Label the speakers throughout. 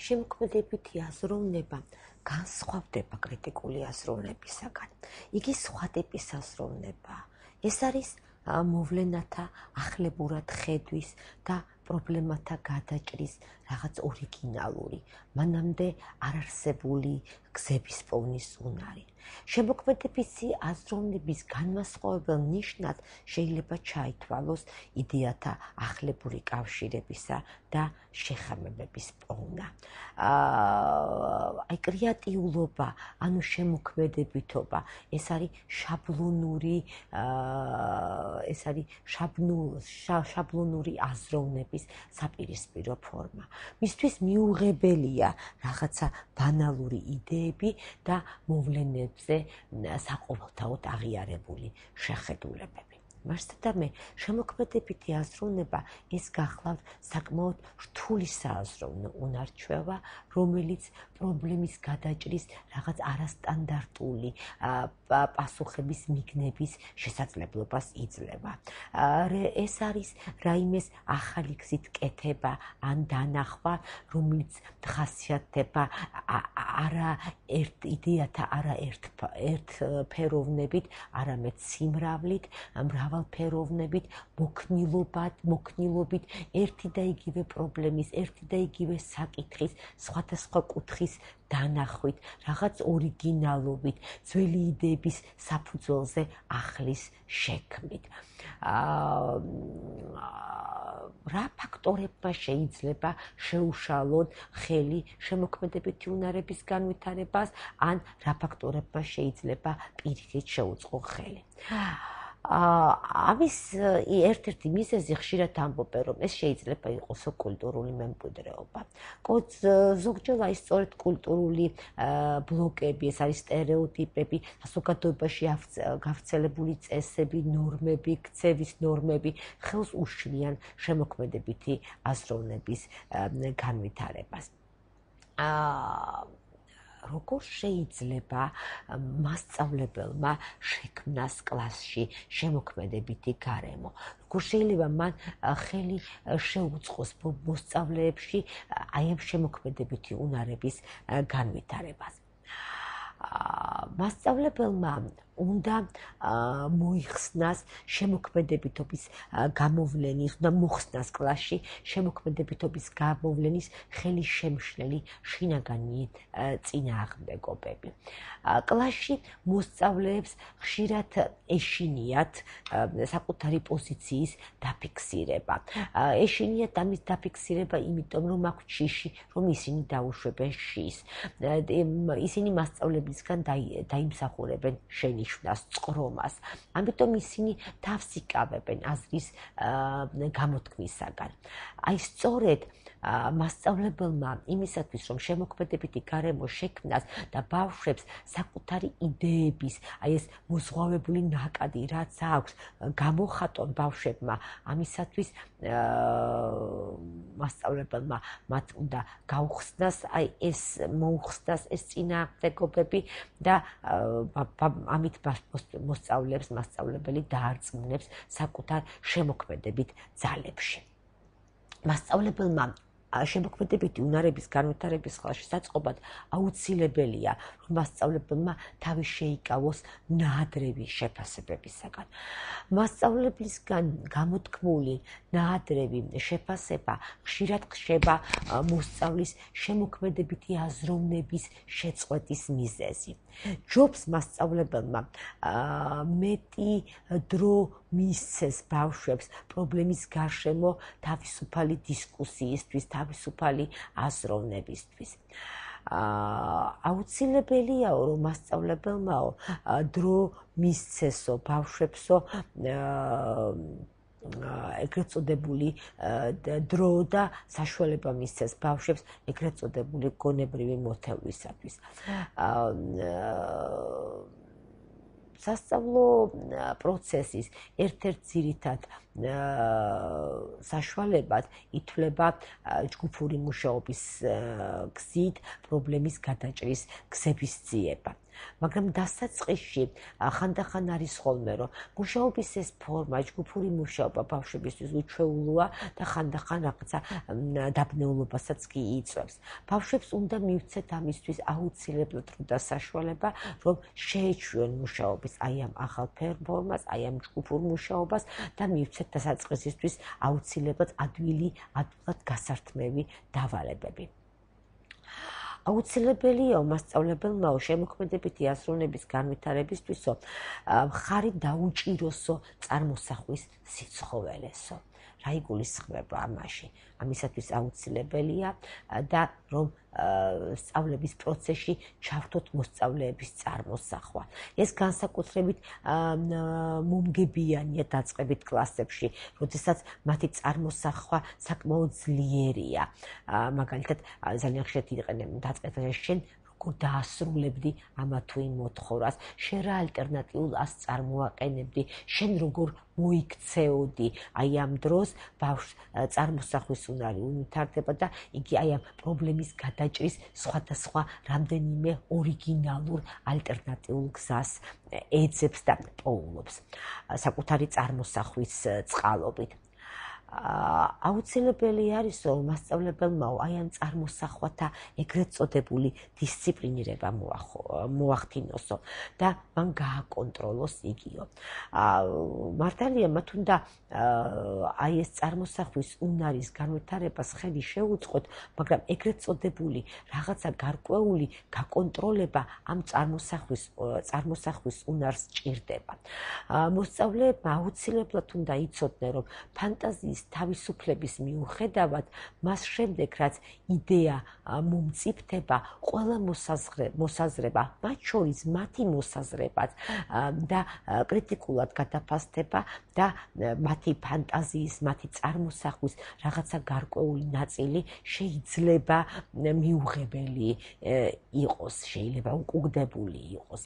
Speaker 1: შემოქმედებითი აზროვნება განსხვავდება კრიტიკული აზროვნებისაგან. იგი სხვა ტიპის აზროვნებაა. ეს არის მოვლენათა ახლებურად ხედვის და პრობლემათა გადაჭრის რაღაც ორიგინალური, მანამდე არარსებული გზების პოვნის უნარი. შემოქმედებითი აზროვნების განმასხვავებელ ნიშნად შეიძლება ჩაითვალოს იდეათა ახლებური კავშირებისა და შეხამებების პოვნა. აი კრეატიულობა, ანუ შემოქმედებითობა, ეს არის შაბლონური აზროვნების საპირისპირო ფორმა. მისთვის მიუღებელია რაღაცა ბანალური იდეები და მოვლენებზე საყოველთაოდ აღიარებული შეხედულებები. მასთადამე შემოქმედებითი აზროვნება ეს გახლავთ საკმაოდ რთული სააზროვნო უნარჩვევა, რომელიც პრობლემის გადაჭრის რაღაც არასტანდარტული პასუხების მიგნების შესაძლებლობას იძლევა. ეს არის რაიმეს ახალი გზით კეთება ან დანახვა, რომელიც ხასიათდება იდეათა ერთფეროვნებით, არამედ სიმრავლით, მრავალფეროვნებით, მოქნილობით, ერთი და იგივე პრობლემის, ერთი და იგივე საკითხის, სხვადასხვა კუთხის დანახვით, რაღაც ორიგინალობით, ძველი იდეების საფუძველზე ახლის შექმნით. რა ფაქტორებმა შეიძლება შეუშალონ ხელი შემოქმედებითი უნარების განვითარებას, ან რა ფაქტორებმა შეიძლება პირიქით შეუწყო ხელი. ამის ერთ-ერთი მიზეზი ხშირად ამბობენ, რომ ეს შეიძლება იყოს კულტურული მემკვიდრეობა. ზოგჯერ ის სწორედ კულტურული ბლოკები, ეს არის სტერეოტიპები, საზოგადოებაში გავრცელებული წესები, ნორმები, ქცევის ნორმები ხელს უშლიან შემოქმედებითი აზროვნების განვითარებას. როგორ შეიძლება მასწავლებელმა შექმნას კლასში შემოქმედებითი გარემო? როგორ შეიძლება მან ხელი შეუწყოს მოსწავლეებში აი ამ შემოქმედებითი უნარების განვითარებას? მასწავლებელმა უნდა მოიხსნას შემოქმედებითობის გამოვლენის, უნდა მოხსნას კლასში შემოქმედებითობის გამოვლენის ხელისშემშლელი შინაგანი წინააღმდეგობები. კლასში მოსწავლეებს ხშირად ეშინიათ საკუთარი პოზიციის დაფიქსირება. ეშინიათ ამის დაფიქსირება, იმიტომ რომ აქვთ შიში, რომ ისინი დაუშვებენ შის. ისინი მასწავლებელისგან დაიმსახურებენ შენიშვნას, წყრომას. ამიტომ ისინი თავს იკავებენ აზრის გამოთქმისაგან. აი სწორედ მასწავლებელმა იმისათვის, რომ შემოქმედებითი გარემო შექმნას და ბავშვებს საკუთარი იდეების, აი ეს მოზღვავებული ნაკადი, რაც აქვს, გამოხატონ ბავშვებმა, ამისათვის მასწავლებელმა მათ უნდა გაუხსნას, აი ეს მოუხსნას ეს წინააღმდეგობები და ამით მასწავლებელი დაარწმუნებს საკუთარ შემოქმედებით ძალებში. მასწავლებელმა შემოქმედებითი უნარების განვითარების ხელშესაწყობად აუცილებელია, რომ მასწავლებელმა თავი შეიკავოს ნაადრევი შეფასებებისაგან. მასწავლებლისგან გამოთქმული ნაადრევი შეფასება ხშირად ხდება მოსწავლის შემოქმედებითი აზროვნების შეწყვეტის მიზეზი. ჯობს მასწავლებელმა მეტი დრო მისცეს ბავშვებს პრობლემის გარშემო თავისუფალი დისკუსიისთვის, თავისუფალი აზროვნებისთვის. აუცილებელიაო, რომ მასწავლებელმაო დრო მისცესო ბავშვებსო ეგრეთ წოდებული დრო და საშუალება მისცეს ბავშვებს ეგრეთ წოდებული გონებრივი მოთევლისათვის. სასწავლო პროცესის ერთ-ერთ ძირითად საშუალებად ითვლება ჯგუფური მუშაობის გზით პრობლემის გადაჭრის გზების ძიება. მაგრამ დასაწყისში ხანდახან არის ხოლმე, რომ მუშაობის ეს ფორმა, ჯგუფური მუშაობა ბავშვებისთვის უჩვეულოა და ხანდახან რაღაცა დაბნეულობასაც კი იწვევს. ბავშვებს უნდა მივცეთ ამისთვის აუცილებლად და საშუალება, რომ შეეჩვიონ მუშაობის აი ამ ახალ ფორმას, აი ამ ჯგუფურ მუშაობას და მივცეთ დასაწყისისთვის აუცილებლად ადვილად გასართმევი დავალებები. აუცილებელია მასწავლებელმა შემოქმედებითი აზროვნების განვითარებისთვისო მხარი დაუჭიროსო წარმოსახვის სიცხოველესო. რა იგულისხმება ამაში? ამისათვის აუცილებელია და რომ სწავლების პროცესში ჩავთოთ მოსწავლეების წარმოსახვა. ეს განსაკუთრებით მომგებიანია დაწყებით კლასებში, როდესაც მათი წარმოსახვა საკმაოდ ძლიერია. მაგალითად, ძალიან ხშირად იყენებენ დაწყებაში შენ როგორ დაასრულებდი ამა თუ იმ მოთხოვას, შენ რა ალტერნატიულ ასს წარმოაყენებდი, შენ როგორ მოიქცეოდი, აი ამ დროს ბავშვს წარმოსახვის უნარი უნვითარდება და იგი აი ამ პრობლემის გადაჭრის სხვადასხვა რამდენიმე ორიგინალურ ალტერნატიულ გზას ეძებს და პოულობს საკუთარი წარმოსახვის წყალობით. აუცილებელი არის, რომ მასწავლებელმა აი ამ წარმოსახვათა ეგრეთ წოდებული დისციპლინირება მოახდინოსო და მან გააკონტროლოს იგიო. მართალია მათ უნდა აი ეს წარმოსახვის უნარის განვითარებას ხელი შეუწყოთ, მაგრამ ეგრეთ წოდებული რაღაცა გარკვეული გაკონტროლება ამ წარმოსახვის უნარს ჭირდება. მოსწავლეებმა აუცილებლად უნდა იცოდნენ, რომ ფანტაზიის თავისუფლების მიუხედავად, მას შემდეგ, რაც იდეა მომწიფდება, ყველა მოსაზრება, მათ შორის მათი მოსაზრებაც და კრიტიკულად გადაფასდება და მათი ფანტაზიის, მათი წარმოსახვის რაღაცა გარკვეული ნაწილი შეიძლება მიუღებელი იყოს, შეიძლება უკუგდებული იყოს.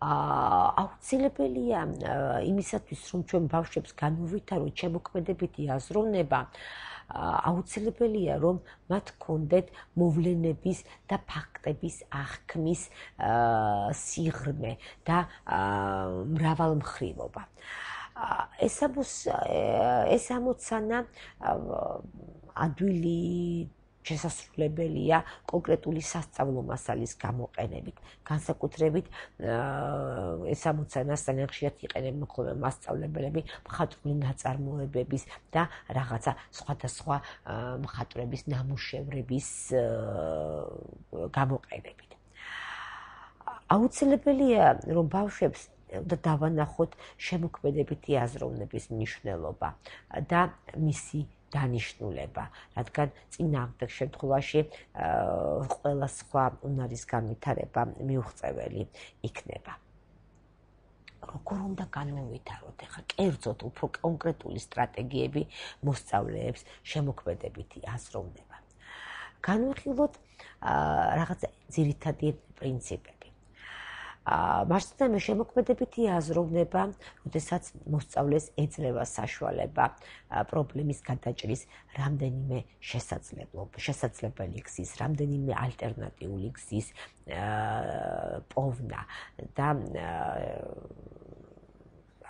Speaker 1: აუცილებელია იმისათვის, რომ ჩვენ ბავშვებს განუვითაროთ შემოქმედებითი აზროვნება, აუცილებელია, რომ მათ ჰქონდეთ მოვლენების და ფაქტების აღქმის სიღრმე და მრავალმხრივობა. ეს ამოცანა ადვილი შესასრულებელია კონკრეტული სასწავლო მასალის გამოყენებით. განსაკუთრებით ეს ამოცანა ძალიან ხშირად იყენებენ ხოლმე მასწავლებლები მხატვრული ნაწარმოებების და რაღაცა სხვადასხვა მხატვრების ნამუშევრების გამოყენებით. აუცილებელია, რომ ბავშვებს და დავანახოთ შემოქმედებითი აზროვნების მნიშვნელობა და მისი დანიშნულება, რადგან წინააღმდეგ შემთხვევაში ყველა სხვა უნარის განვითარება მიუღწეველი იქნება. როგორ უნდა განუვითაროთ ახლა კერძოდ უფრო კონკრეტული სტრატეგიები მოსწავლეებს შემოქმედებითი აზროვნება. განვიხილოთ რაღაც ძირითადი პრინციპები. მარცხნივ შემოქმედებითი აზროვნება, როდესაც მოსწავლეს ეძლევა საშუალება პრობლემის გადაჭრის რამდენიმე შესაძლებელი გზის, რამდენიმე ალტერნატიული გზის პოვნა და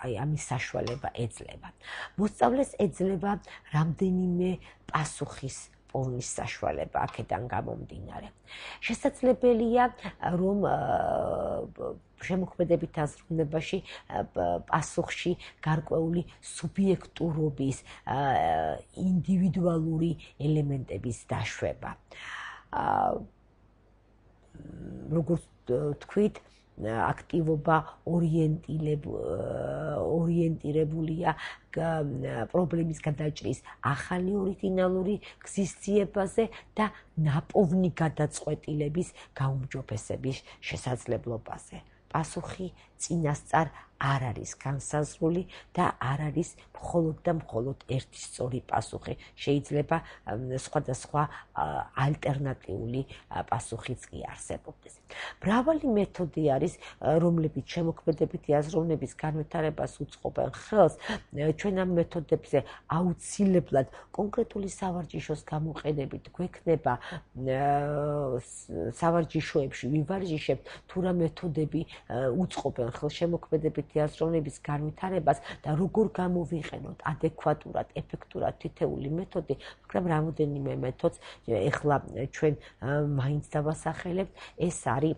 Speaker 1: აი ამის საშუალება ეძლევა. მოსწავლეს ეძლევა რამდენიმე პასუხის პოვნის საშუალება აქედან გამომდინარე. შესაძლებელია, რომ შემოქმედებით აზროვნებაში პასუხში გარკვეული სუბიექტურობის, ინდივიდუალური ელემენტების დაშვება. როგორც თქვით, აქტივობა ორიენტირებულია პრობლემის გადაჭრის ახალი ორიგინალური გზის ძიებაზე და ნაპოვნი გადაწყვეტილების გაუმჯობესების შესაძლებლობაზე. პასუხი წინასწარ არ არის განსაზღვრული და არ არის მხოლოდ და მხოლოდ ერთი სწორი პასუხი. შეიძლება სხვადასხვა ალტერნატიული პასუხიც კი არსებობდეს. მრავალი მეთოდი არის, რომლებიც შემოქმედებითი აზროვნების განვითარებას უწყობენ ხელს. ჩვენ ამ მეთოდებზე აუცილებლად კონკრეტული სავარჯიშოს გამოყენებით გვექნება სავარჯიშოებში ვივარჯიშებთ თუ რა მეთოდები უწყობენ ხელს შემოქმედებითი აზროვნების განვითარებას და როგორ გამოვიყენოთ ადეკვატურად, ეფექტურად თითეული მეთოდი, მაგრამ რამოდენიმე მეთოდს ეხლა ჩვენ მაინც დავასახელებთ. ეს არის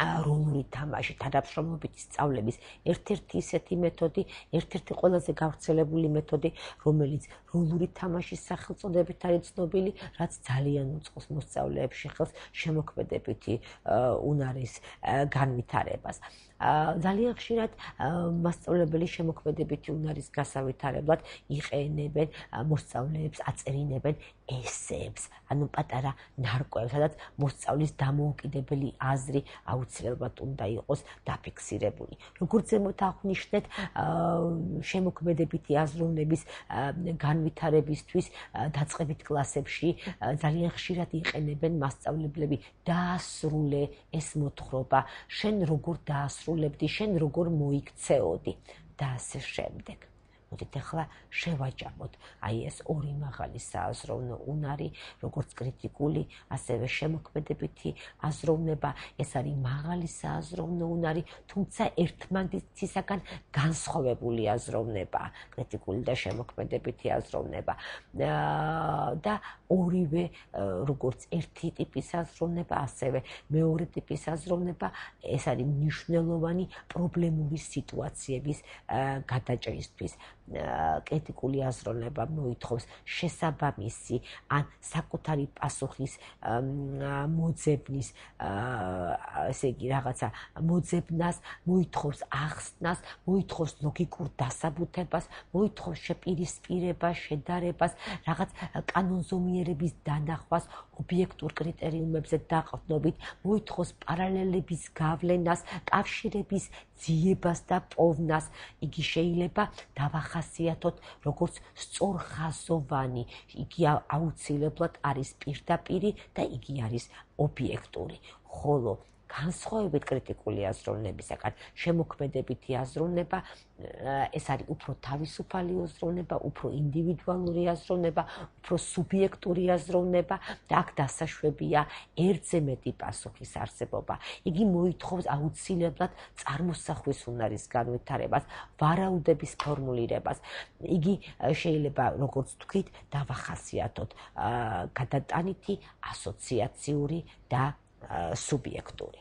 Speaker 1: როლური თამაში, თანამშრომლობითი სწავლების ერთ-ერთი ისეთი მეთოდი, ერთ-ერთი ყველაზე გავრცელებული მეთოდი, რომელიც როლური თამაშის სახელწოდებით არის ცნობილი, რაც ძალიან უწყობს მოსწავლეებში ხელს შემოქმედებითი უნარის განვითარებას. ძალიან ხშირად მასწავლებელი შემოქმედებითი უნარის გასავითარებლად იყენებენ მოსწავლეებს, აწერინებენ ესეებს, ანუ პატარა ნარკვევს, სადაც მოსწავლის დამოუკიდებელი აზრი აუცილებლად უნდა იყოს დაფიქსირებული. როგორც ზემოთ აღვნიშნეთ, შემოქმედებითი აზროვნების განვითარებისთვის დაწყებით კლასებში ძალიან ხშირად იყენებენ მასწავლებლები დაასრულე ეს მოთხრობა, შენ როგორ დაასრულებდი, შენ როგორ მოიქცეოდი და ასე შემდეგ. მოდით ახლა შევაჯამოთ აი ეს ორი მაღალი სააზროვნო უნარი, როგორც კრიტიკული, ასევე შემოქმედებითი აზროვნება. ეს არის მაღალი სააზროვნო უნარი, თუმცა ერთმანეთისაგან განსხვავებული აზროვნება, კრიტიკული და შემოქმედებითი აზროვნება. და ორივე, როგორც ერთი ტიპის აზროვნება, ასევე მეორე ტიპის აზროვნება, ეს არის მნიშვნელოვანი პრობლემური სიტუაციების გადაჭრისთვის. კრიტიკული აზროვნება მოითხოვს შესაბამისი ან საკუთარი პასუხის მოძებნის, ესე იგი რაღაცა მოძებნას, მოითხოვს ახსნას, მოითხოვს ლოგიკურ დასაბუთებას, მოითხოვს შეპირისპირებას, შედარებას, რაღაც კანონზომიერების დანახვას, ობიექტურ კრიტერიუმებზე დაყრდნობით, მოითხოვს პარალელების გავლენას, კავშირების ძიებას და პოვნას. იგი შეიძლება დავახასიათოთ როგორც სწორხაზოვანი, იგი აუცილებლად არის პირდაპირი და იგი არის ობიექტური. ხოლო განსხვავებით კრიტიკული აზროვნებისაგან, შემოქმედებითი აზროვნება, ეს არის უფრო თავისუფალი აზროვნება, უფრო ინდივიდუალური აზროვნება, უფრო სუბიექტური აზროვნება და აქ დასაშვებია ერთზე მეტი პასუხის არსებობა. იგი მოითხოვს აუცილებლად წარმოსახვის უნარის განვითარებას, ვარაუდების ფორმულირებას. იგი შეიძლება, როგორც თქვით, დავახასიათოთ გადატანითი, ასოციაციური და სუბიექტური.